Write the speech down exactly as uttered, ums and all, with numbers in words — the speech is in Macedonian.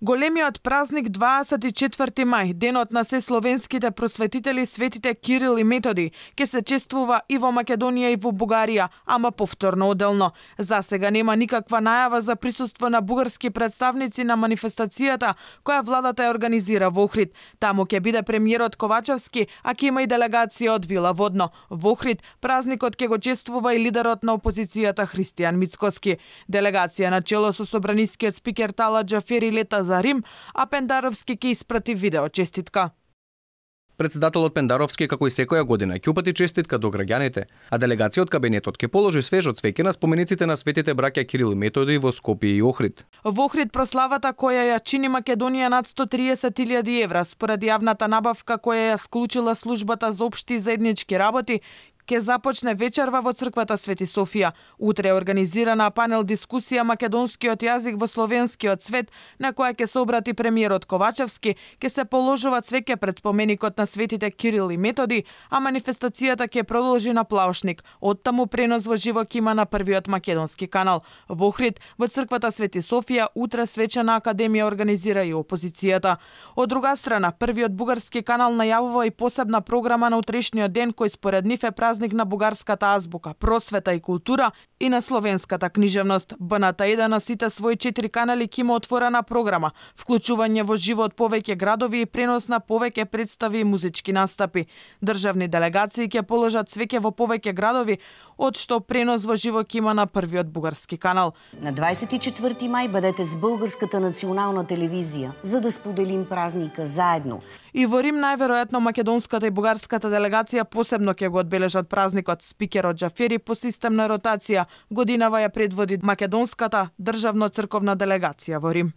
Големиот празник дваесет и четврти мај, денот на се словенските просветители светите Кирил и Методи, ќе се чествува и во Македонија и во Бугарија, ама повторно оделно. За сега нема никаква најава за присуство на бугарски представници на манифестацијата која владата ја организира во Охрид. Таму ќе биде премиерот Ковачевски, а ќе има и делегација од Вила Водно. Во Охрид празникот ќе го чествува и лидерот на опозицијата Христијан Мицкоски. Делегација на чело со собранискиот спикер Тала Џафери лета за Рим, а Пендаровски ќе испрати видео честитка. Председателот Пендаровски, како и секоја година, ќе упати честитка до граѓаните, а делегација од кабинетот ќе положи свежо цвеќе на спомениците на светите браќа Кирил и Методи во Скопје и Охрид. Во Охрид прославата која ја чини Македонија над сто триесет илјади евра според јавната набавка која ја склучила службата за општи и заеднички работи, ќе започне вечерва во црквата Свети Софија. Утре е организирана панел дискусија македонскиот јазик во словенскиот свет, на која ќе се обрати премиерот Ковачевски, ќе се положува цвеќе пред споменикот на светите Кирил и Методи, а манифестацијата ќе продолжи на Плаушник. Оттаму пренос во живо ќе има на првиот македонски канал. Во Охрид, во црквата Свети Софија, утре свечена академија организира и опозицијата. Од друга страна, првиот бугарски канал најавува и посебна програма на утрешниот ден кој според нив е празник на бугарската азбука, просвета и култура и на словенската книжевност. Б Н Т еден на сите своји четири канали ќе има отворена програма, вклучување во живо од повеќе градови и пренос на повеќе представи и музички настапи. Државни делегации ќе положат цвеќе во повеќе градови, од што пренос во живо ќе има на првиот бугарски канал. На дваесет и четврти мај бъдете с Българската национална телевизија, за да споделим празника заедно. И во Рим најверојатно македонската и бугарската делегација посебно ќе го одбележат празникот. Спикерот Џафери по системна ротација годинава ја предводи македонската државно-црковна делегација во Рим.